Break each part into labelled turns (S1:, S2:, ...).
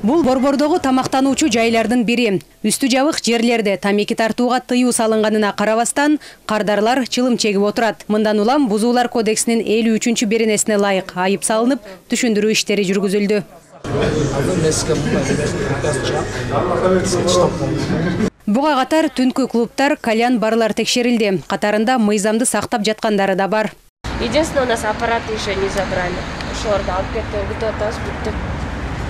S1: Бул Борбордогу тамактануучу жайлардын бири. Үстү жабык жерлерде тамеки тартууга тыюу салынганына карабастан, кардарлар чылым чегип отурат. Мындан улам Бузуулар кодексинин 53-чү беренесине ылайык айып салынып, түшүндүрүү иштери жүргүзүлдү. Буга катар түнкү клубтар, кальян барлар текшерилди. Катарында мыйзамды сактап жаткандары да бар.
S2: Единственное, у нас аппараты еще не забрали. Шорды алып кетти, бүтүп атабыз, бүттүк.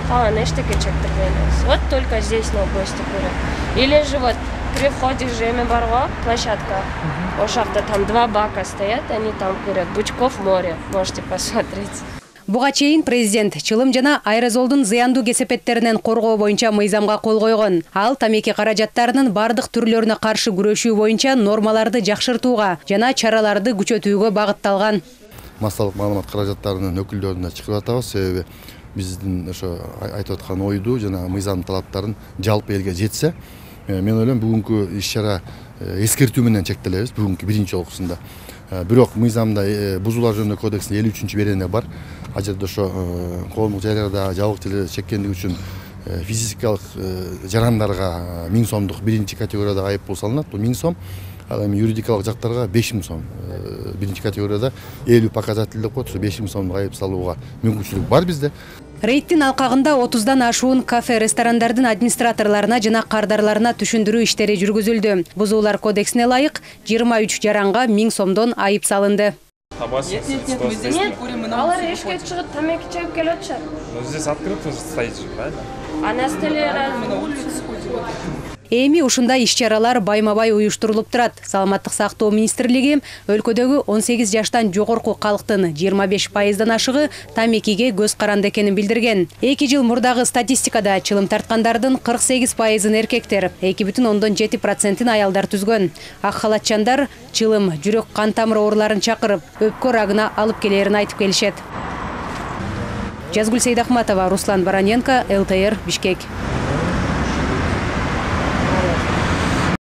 S2: Калган эчтеке чектирбейбиз. Вот только здесь на гости көрөт. Или же вот при входе жеме барго, площадка. Ошакта там 2 бака стоят, они там курят. Бычков море, можете посмотреть.
S1: Буга чейин президент чылым жана аэрозолдун зыяндуу кесепеттеринен коргоо боюнча мыйзамга кол койгон. Ал тамеки каражаттарынын бардык түрлөрүнө каршы күрөшүү боюнча нормаларды жакшыртууга жана чараларды күчөтүүгө багытталган.
S3: Массалык маалымат каражаттарынын өкүлдөрүнө чакырып атабыз, себеби биздин ошо айтып аткан ойду жана мыйзам талаптарын жалпы элге жетсе, мен ойлойм бүгүнкү иш-чара эскертүү менен чектелебиз бүгүнкү биринчи жолкусунда. Бирок мыйзамда Бузуулар жөнүндө кодекстин 53-чү берене бар. Ал жерде ошо коомдук жайларда жабык жерлерде чеккендик үчүн физикалык жарандарга 1000 сомдук биринчи категорияда айып пул салынат. Бул 1000 сом. Ал эми юридикалык жактарга 5000 сом. Биринчи категорияда 50 показатель деп коет, ошо 5000 сомдук айып салууга мүмкүнчүлүк бар бизде.
S1: Рейдтин алкагында 30дан ашуун кафе, ресторандардын администраторлоруна жана кардарларына түшүндүрүү иштери жүргүзүлдү. Бузуулар кодексине ылайык 23 жаранга 1000 сомдон айып салынды.
S2: Алар эшикке чыгып тамеки чегип келип атышат.
S4: Здесь открыто стоит же, правильно?
S2: А на столе
S1: Эми ушундай иш-чаралар байма-бай уюштурулуп турат. Саламаттык сактоо министрлиги өлкөдөгү 18 жаштан жогорку калктын 25%дан ашыгы тамекиге көз каранды экенин билдирген. 2 жыл мурдагы статистикада чылым тарткандардын 48%-ын эркектер, 2,7%-ын аялдар түзгөн. Ак халатчандар чылым, жүрөк кан тамыр ооруларын чакырып, өпкө рагына алып келерин айтып келишет. Жазгүл Сейдахматова, Руслан Бараненко, ЛТР, Бишкек.